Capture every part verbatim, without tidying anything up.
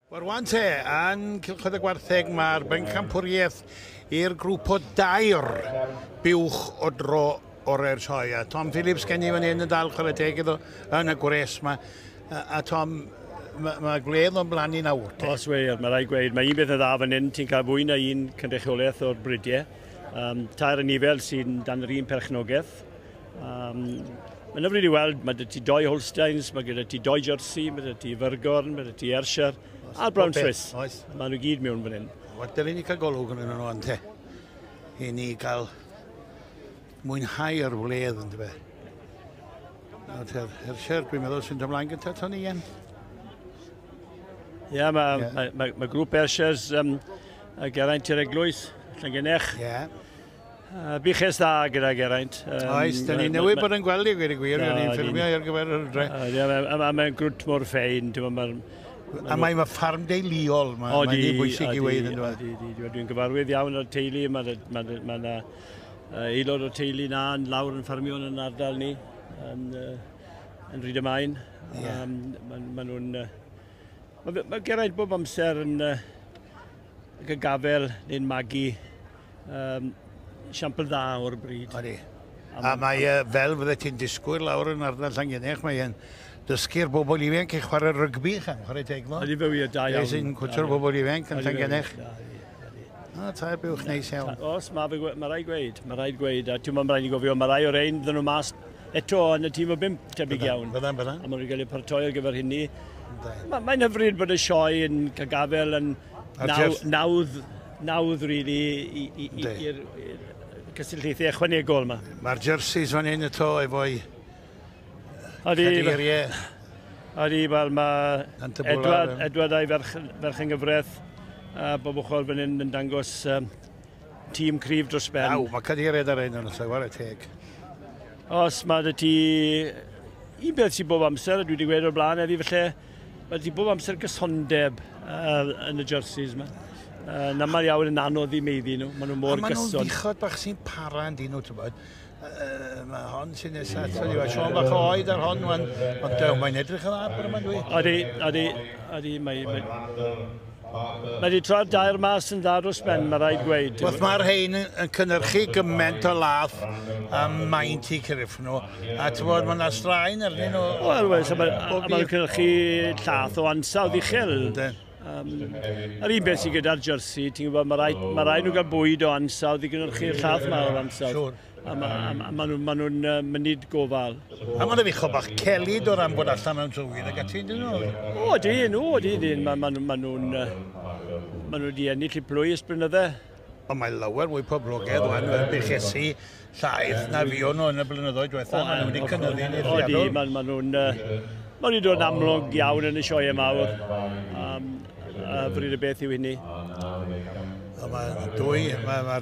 Wel rwan te, yn Cylchoedd y Gwartheg mae'r bencampwriaeth i'r grŵp o dair buwch o dro orau'r sioe. A Tom Phillips gen i fan hyn yn dal chwarae teg iddo yn y gwres yma. A, a Tom, mae ma gwledd o'n blaen i nawr. Te. Os wir, mae rhaid gweud, mae un beth yn dda fan hyn, ti'n cael fwy na un cynrychiolaeth o'r bridiau. Um, tair anifail sy'n dan yr un perchnogaeth. Um, Mae'n hyfryd i weld, mae 'da ti doi Holsteins, mae gyda ti doi Jersey, mae gyda ti Fyrgorn, mae gyda ti Ayrshire, a'r Brown Swiss. Oes. Maen nhw gyd mewn fan hyn. Wel, dylen ni cael golwg yn nhw ante. I ni gael mwynhau'r wledd yn dyfe. Nawr, Ayrshire, dwi'n meddwl sy'n ymlaen gyda Tony Ian. Ie, yeah, mae yeah. ma, ma, ma grŵp Ayrshires um, Geraint i'r Eglwys, Llangennech. Ie. Yeah. Uh, buches dda gyda Geraint. Um, Oes, da ni newydd bod yn gweld i gweud y gwir, o'n i'n ffilmio ar gyfer yr dre. Uh, a mae'n grwt mor ffein. Ma, a mae'n ma ffarm deuluol, mae'n ma bwysig i weid yn dweud. Odi, dwi'n gyfarwydd iawn o'r teulu, mae ma, ma, ma aelod o'r teulu na yn lawr yn ffarmio yn ardal ni, yn, uh, yn Rhyd y Maen. Yeah. Um, ma, ma nhw'n... Uh, mae ma Geraint bob amser yn uh, gafel neu'n magu um, siampl dda o'r bryd. Odi. A mae uh, fel fydde ti'n disgwyl lawr yn ardal Llangennech, mae'n dysgu'r bobl ifanc i chwarae rygbi, chan, chwarae teg fo. Odi fe wir, da iawn. Sy'n cwtio'r bobl ifanc yn Llangennech. O, tair buwch neis iawn. Os, mae ma rhaid gweud, mae rhaid gweud. A ti'n meddwl, mae rhaid i gofio, mae rai o'r ein ddyn nhw mas eto yn y tîm o bump tebyg iawn. Fyddan, fyddan. A maen nhw'n cael eu paratoi ar gyfer hynny. Mae'n hyfryd bod y sioe yn cael gafel yn nawdd, nawdd, really, i'r cysylltiaethau ychwanegol yma. Mae'r jerseys fan hyn eto efo'i cadeiriau. Odi, wel, mae Edward, Edward a'i ferch, ferch yng nghyfraith a bob ochr fan hyn yn dangos um, tîm cryf dros ben. Aw, mae cadeiriau ar ein yn y chwarae teg. Os mae dy ti un beth sy'n bob amser, a dwi wedi gweud o'r blaen heddi felly, mae ti bob amser gysondeb uh, yn y jerseys yma. Uh, yn aml iawn yn anodd i meiddi nhw, maen nhw mor gyson. A maen nhw'n fuchod bach sy'n para yn dyn nhw, ti'n bod. Uh, mae hon sy'n nesaf ato ni, Siôn bach o oed ar hon, wan, ond dew, mae'n edrych yn dda bod yma'n dwi. Odi, odi, odi, mae... mae Mae wedi troi'r dair mas yn dda dros ben, mae rhaid gweud. Wel, mae'r rhain yn cynhyrchu gymaint o lath a maint i cyrff nhw, a ti'n bod, mae yna straen arnyn nhw. Wel, wel, so mae, a maen nhw'n cynhyrchu llath o ansawdd uchel. Um, yr un beth sydd gyda'r jersey, ti'n gwybod, mae rhaid, ma rhaid nhw gael bwyd o ansawdd i gynhyrchu'r llath yma o'r ansawdd. Siwr. A ma, a ma nhw'n ma nhw mynyd gofal. A maen nhw'n fuchod bach celyd o ran bod allan mewn tywydd ac ati, dyn nhw? O, dyn, o, dyn, dyn. Ma, ma, ma nhw'n ma nhw wedi ennill i plwy ers blynydde. Ond mae lawer mwy poblogaidd wan, fel buchesi llaeth na fuon nhw yn y blynyddoedd diwetha. Maen nhw wedi cynyddu'n eithriadol. O, di, ma, ma nhw'n... Maen nhw wedi dod yn amlwg iawn yn y sioeau mawr. Um, a bryd y beth yw hynny. Mae dwy, mae'r ma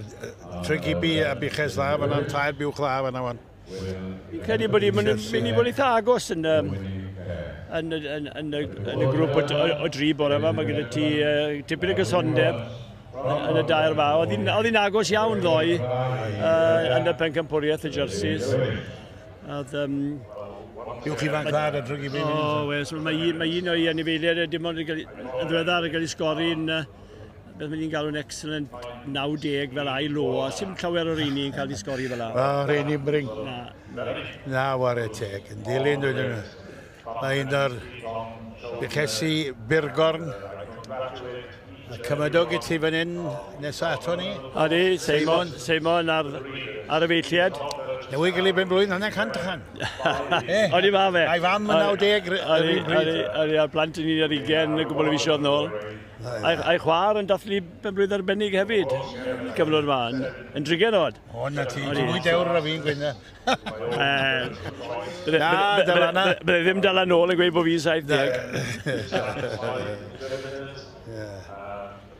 Trygibi a buches dda fan'na, tair buwch dda fan'na wan. Fi'n credu bod ni'n mynd i bod eitha agos yn, yn, yn, yn, yn, y, yn y grŵp o, o, o dri bore yma. Mae gyda ti uh, tipyn o gysondeb yn, yn y dair yma. Oedd hi'n agos iawn ddoe uh, yn y pencampwriaeth y jerseys. Oedd, um, Buwch ifanc dda ar y Trygibi. O, wes, mae un, mae un o'i anifeiliaid dim ond yn ddiweddar yn cael ei sgori'n beth mae'n ni'n galw'n excellent naw deg fel ail lo, a sy'n llawer o'r rheini yn cael ei sgori fel la. O, rheini'n bring. Na, na. Na, ware teg. Yn dilyn, dwi'n nhw. Mae un o'r buchesi Byrgorn. A cymydog i ti fan hyn nesaf ato ni. Odi, Seimon, Seimon ar, ar y feilliad. Newydd gael ei ben blwydd, hanner cant ychan. Odi ma fe. A'i fam yn naw deg yr un pryd. Odi, a'r plant yn un ar ugain, gwbl o fisoedd nôl. A'i chwaer yn dathlu ben blwydd arbennig hefyd, cyfnod yma, yn, yn drigen oed. O, na ti, ti'n mwy dewr na fi'n gweud na. Na, dala na. Bydde ddim dala nôl yn gweud bod fi'n saith deg.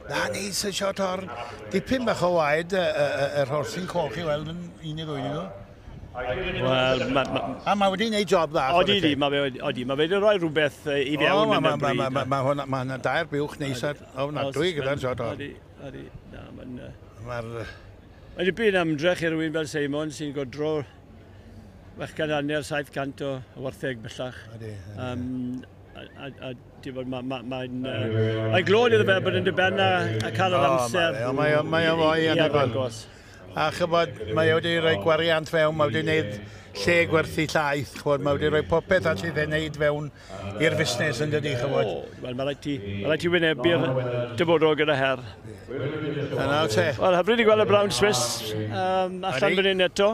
Na, neis y shot o'r dipyn bach o waed yr horsyn coch i weld yn un i ddwy nhw. Wel, ma, ma, A mae wedi gwneud job dda. Odi, di, mae fe, odi, mae fe wedi rhoi rhywbeth i fewn yn y bryd. Mae ma, ma, ma hwnna dair buwch neis ar ofnadwy gyda'r shot o'r. Odi, odi, na, mae'n... Mae'r... Mae dipyn ymdrech i rywun fel Seimon sy'n godro chwech cant hanner, saith cant o wartheg bellach. Ydy. Um, a, a, a mae'n ma, ma, ma uh, mae glod iddo fe bod yn dibyn a, a cael yr amser. O, mae o, mae o foi anhygoel. A chybod, mae o wedi rhoi gwariant fewn, mae wedi gwneud lle gwerthu llaeth, chybod, mae wedi rhoi popeth allu ei wneud fewn i'r fusnes yn dydi, chybod. O, wel, mae rhaid ti, mae rhaid ti wynebu'r dyfodol gyda her. Yna te. Wel, hyfryd i gweld y Brown Swiss um, allan fan hyn eto.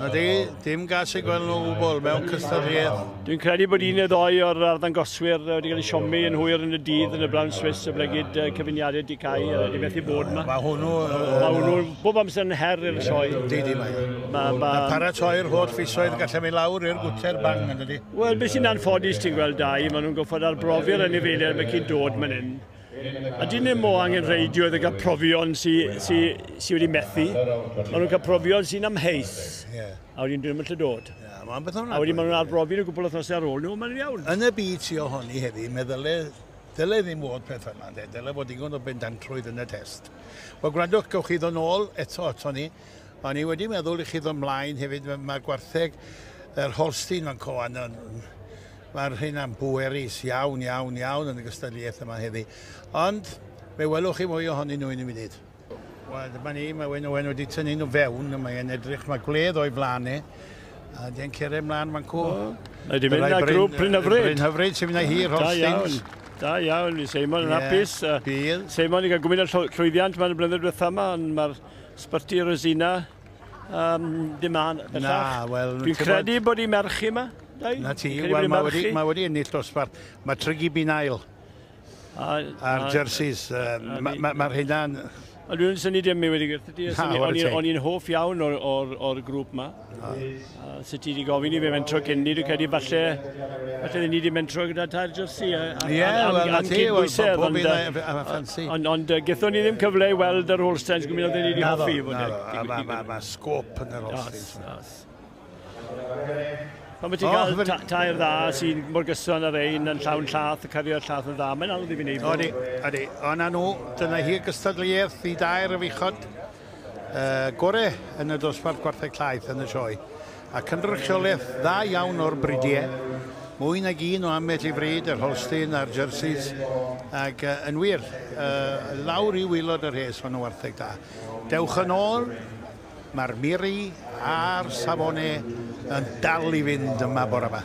Ydy, dim gas i gweld nhw gwbl mewn cystadleuaeth. Dwi'n credu bod un neu ddoi o'r arddangoswyr wedi cael eu siomi yn hwyr yn y dydd yn y Brown Swiss y blegid cyfuniadau di cael, wedi methu bod yma. Mae hwnnw... Mae hwnnw bob amser yn her i'r sioe. Di, di, mae. Ma, ma... Paratoi'r holl fisoedd gallu mynd lawr i'r gwter bang yn dydi. Wel, beth sy'n anffodus ti'n gweld dau, maen nhw'n gorfod arbrofi'r anifeiliaid mae cyn dod man hyn. A dyn nhw mo angenrheidio iddo gael profion sy, sy, sy wedi methu. Maen nhw'n cael profion sy'n amheus. Yeah. A wedyn dyn nhw'n gallu dod. Yeah, mae'n beth a wedyn maen nhw'n arbrofi nhw gwbl wythnosau ar ôl nhw, mae'n iawn. Yn y byd sy ohoni heddi, meddyle, dyle ddim fod peth yma, de. Dyle fod digon o bendantrwydd yn y test. Wel, gwrandwch, gewch chi ddod nôl eto ato ni. O'n i wedi meddwl i chi ddod ymlaen hefyd, mae gwartheg yr Holstein fan coan yn... Mae'r hynna'n bwerus iawn, iawn, iawn yn y gystadleuaeth yma heddi. Ond fe welwch chi mwy ohonyn nhw yn y munud. Wel, dyma ni, mae Wyn Owen wedi tynnu nhw fewn, mae'n edrych, mae gwledd o'i flaen e. A di'n cyrraedd mlaen fan cw. Mae di mynd â grŵp Bryn Hyfryd. Bryn Hyfryd sy'n mynd â hir Holsteins. Da iawn, da iawn, Seimon yn hapus. Bydd. Seimon wedi cael gwmyn o llwyddiant ma'n y blynedd diwethaf yma, ond mae'r Sbyty Rosina um, ddim an bellach. Na, wel... Dwi'n credu bod i merch yma. Na ti, wel, mae wedi, ma wedi ennill dosbarth. Mae Trygi Binail a'r jerseys, mae'r ma, ma hynna'n... A dwi'n syni dim mi wedi gwrth ti. O'n i'n hoff iawn o'r, or, or grŵp yma. Sut ti wedi gofyn i fi mentro cyn ni, dwi'n credu falle, falle ni wedi mentro gyda tair jersey. Ie, wel, na ti, pob un a ffansi. Ond ond gethon ni ddim cyfle i weld yr Holsteins gwmyn oedden ni wedi hoffi. Na, mae ma sgôp yn yr Holsteins. Pan ti'n cael oh, tair dda sy'n mor gyson ar ein yn llawn llath, y cario'r llath yn dda, mae'n anodd i fi wneud. Odi, odi. O na nhw, dyna hi gystadleuaeth i dair y fuchod uh, gore yn y dosbarth gwartheg llaeth yn y sioe. A cynrychiolaeth dda iawn o'r bridiau, mwy nag un o ambell i fryd, yr Holstein a'r jerseys, ac uh, yn wir, uh, lawr i waelod yr hes fan o wartheg da. Dewch yn ôl, mae'r miri a'r safone yn dal i fynd yma bore yma.